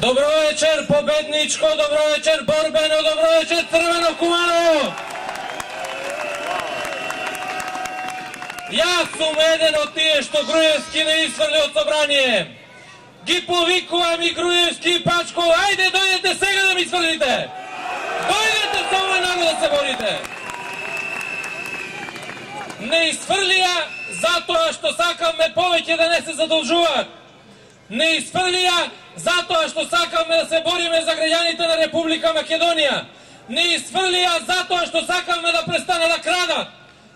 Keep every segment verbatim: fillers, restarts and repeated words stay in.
Добро вечер, победничко, добро вечер, борбено, добро вечер, Црвено Куманово. Јас сум еден од тие што Груевски не исфрли од собрание. Ги повикувам и Груевски и Пачков, ајде дојдете сега да ми исфрлите. Дојдете со овој народ да се борите. Не исфрлија затоа што сакаме повеќе да не се задолжуваат. Не исфрлија затоа што сакаме да се бориме за граѓаните на Република Македонија. Не исфрлија затоа што сакаме да престане да крадат.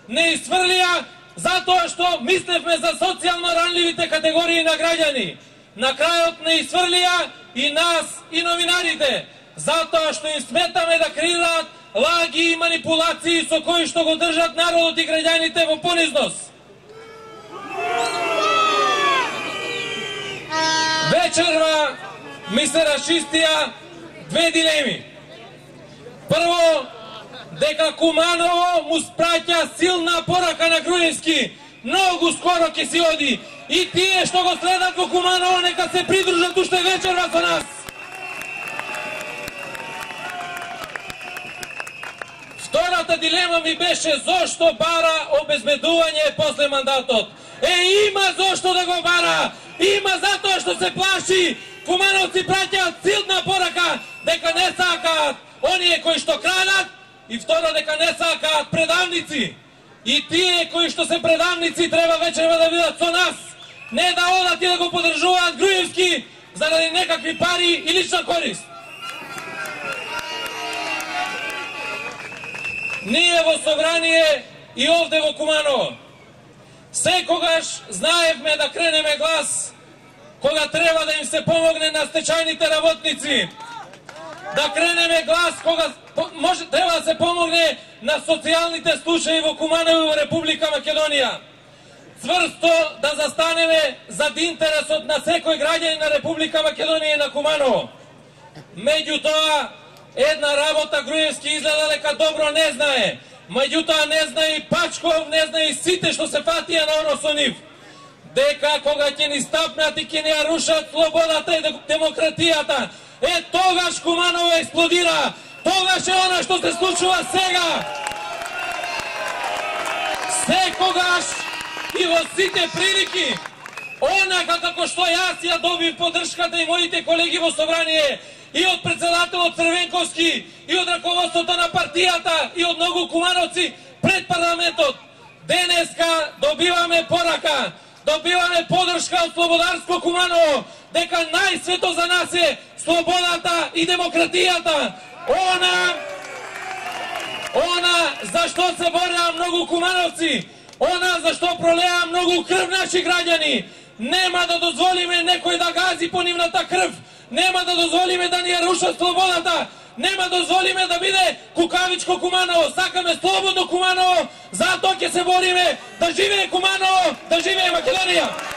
Не исфрлија затоа што мислевме за социјално ранливите категории на граѓани. На крајот не исфрлија и нас и новинарите, затоа што им сметаме да креираат лаги и манипулации со кои што го држат народот и граѓаните во понизност. Вечерва ми се расчистија две дилеми. Прво, дека Куманово му спраќа силна порака на Груевски. Многу скоро ќе си оди. И тие што го следат во Куманово нека се придружат уште вечерва со нас. Втората дилема ми беше зошто бара обезбедување после мандатот. Е, има зошто да го бара. Има затоа што се плаши. Кумановци праќаат силна порака дека не сакаат оние кои што крадат и второ дека не сакаат предавници. И тие кои што се предавници треба вечерва да бидат со нас. Не да одат и да го поддржуваат Груевски заради некакви пари и лична корист. Ние во собрание и овде во Куманово секогаш знаевме да кренеме глас кога треба да им се помогне на стечајните работници. Да кренеме глас кога може треба да се помогне на социјалните случаи во Куманово и во Република Македонија. Цврсто да застанеме зад интересот на секој граѓанин на Република Македонија и на Куманово. Меѓутоа, една работа Груевски изгледа дека добро не знае. Меѓутоа не знае и Пачков, не знае и сите што се фатија на оно со нив. Дека кога ќе ни стапнат и ќе ни ја рушат слободата и демократијата, е тогаш Куманово експлодира. Тогаш е она што се случува сега. Секогаш и во сите прилики, онака како што јас ја добив поддршката и моите колеги во собрание, и од председателот Црвенковски, и од раководството на партијата, и од многу кумановци пред парламентот. Денеска добиваме порака, добиваме поддршка од Слободарско Куманово, дека најсвето за нас е слободата и демократијата. Она, она за што се бораа многу кумановци, она за што пролеа многу крв наши граѓани. Нема да дозволиме некој да гази по нивната крв. Нема да дозволиме да ни ја рушат слободата. Нема да дозволиме да биде кукавичко Куманово. Сакаме слободно Куманово. Затоа ќе се бориме да живее Куманово, да живее Македонија.